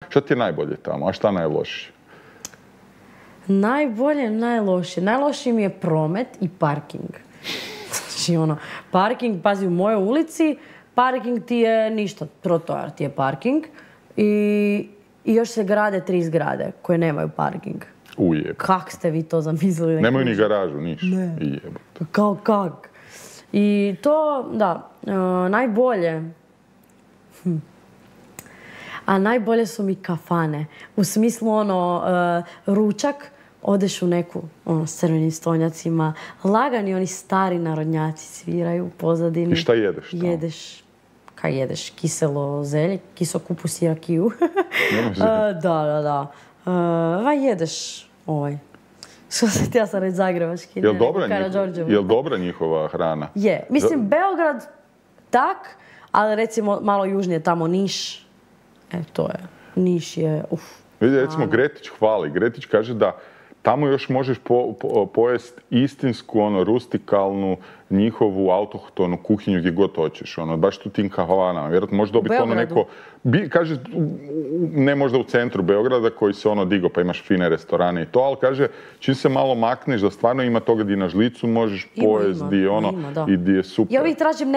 Šta ti je najbolje tamo, a šta najlošije? Najbolje, najlošije. Najlošiji mi je promet i parking. Znači parking, pazi, u mojoj ulici, parking ti je ništa, trotoar ti je parking i još se grade 3 zgrade koje nemaju parking. Ujeb. Kak ste vi to zamislili? Nemaju ni garažu, ništa. Ne. Kak? I to, da, najbolje. A najbolje su mi kafane. U smislu ručak, odeš u neku s crvenim stonjacima, lagani oni stari narodnjaci sviraju u pozadini. I šta jedeš tamo? Kaj jedeš? Kiselo zelje, kiso kupus i rakiju. Da. Jedeš što se ti ja sam reći zagrebački. Jel' dobra njihova hrana? Je. Mislim, Beograd tak, ali recimo malo južnije tamo Niš. To je. Niš je, Vidite, recimo Gretić hvali. Gretić kaže da tamo još možeš pojest istinsku, rustikalnu, njihovu autohtonu kuhinju gdje god hoćeš. Baš tu tim kavanama. Vjerojatno može dobiti neko... Kaže, ne možda u centru Beograda koji se digao pa imaš fine restorane i to, ali kaže, čim se malo makneš da stvarno ima toga gdje na žlicu možeš pojest, i gdje je super. Ja uvijek tražim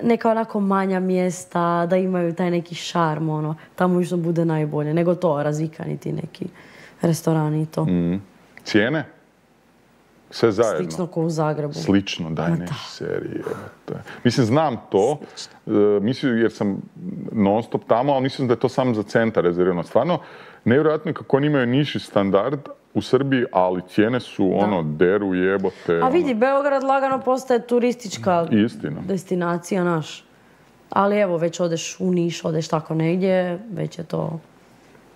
neka onako manja mjesta, da imaju taj neki šarm, tamo još bude najbolje, nego to, razvikani ti neki restorani i to. Cijene? Sve zajedno? Slično kao u Zagrebu. Slično, daj neći serije. Mislim, znam to, mislim jer sam non stop tamo, ali mislim da je to samo za centar rezervirano. Stvarno, nevjerojatno je kako oni imaju niži standard u Srbiji, ali cijene su deru jebote. A vidi, Beograd lagano postaje turistička destinacija naš. Ali evo, već odeš u Niš, odeš tako negdje, već je to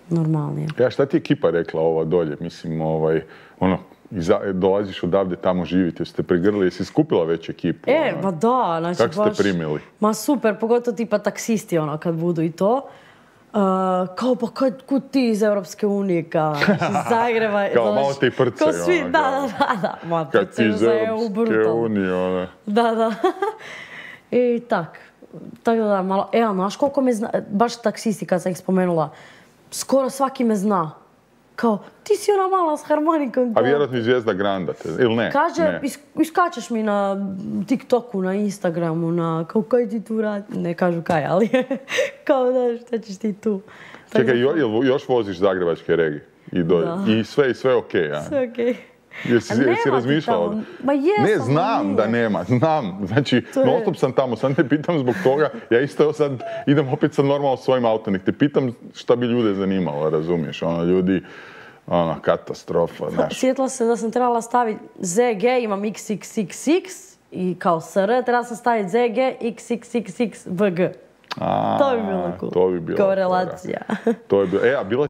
normalnije. Ja, šta ti je ekipa rekla ova dolje? Mislim, dolaziš odavde, tamo živite, ste pregrli, jesi skupila već ekipu? Ma da, znači baš... Kako ste primili? Ma super, pogotovo tipa taksisti, kad budu i to. Kao, pa kud ti iz Europske unije, kao, iz Zagreba. Kao malo te i prcaju. Kao svi, da. Ma, prcaju za EU, brutalno. Da. I tako da, malo, znaš koliko me zna, baš taksisti kad sam ih spomenula, skoro svaki me zna. Kao, ti si ona mala s harmonikom. A vjerojatno i Zvijezda Granda, ili ne? Kaže, iskačeš mi na TikToku, na Instagramu, kao kaj ti tu radi? Ne kažu kaj, ali kao da šta ćeš ti tu. Čekaj, još voziš zagrebačke regije? I sve okej, ja? Sve okej. Jesi razmišljala? Ma jesam. Ne, znam da nema, znam. Znači, non stop sam tamo, sad te pitam zbog toga. Ja isto sad idem opet sad normalno svojim autom, nek te pitam šta bi ljude zanimalo, razumiješ? Ljudi, katastrofa, znaš. Sjetila se da sam trebala staviti ZG, imam XXXX i kao SR, trebala sam staviti ZG, XXXXVG. To bi bilo cool. To bi bilo. Kao relacija. To bi bilo. A bila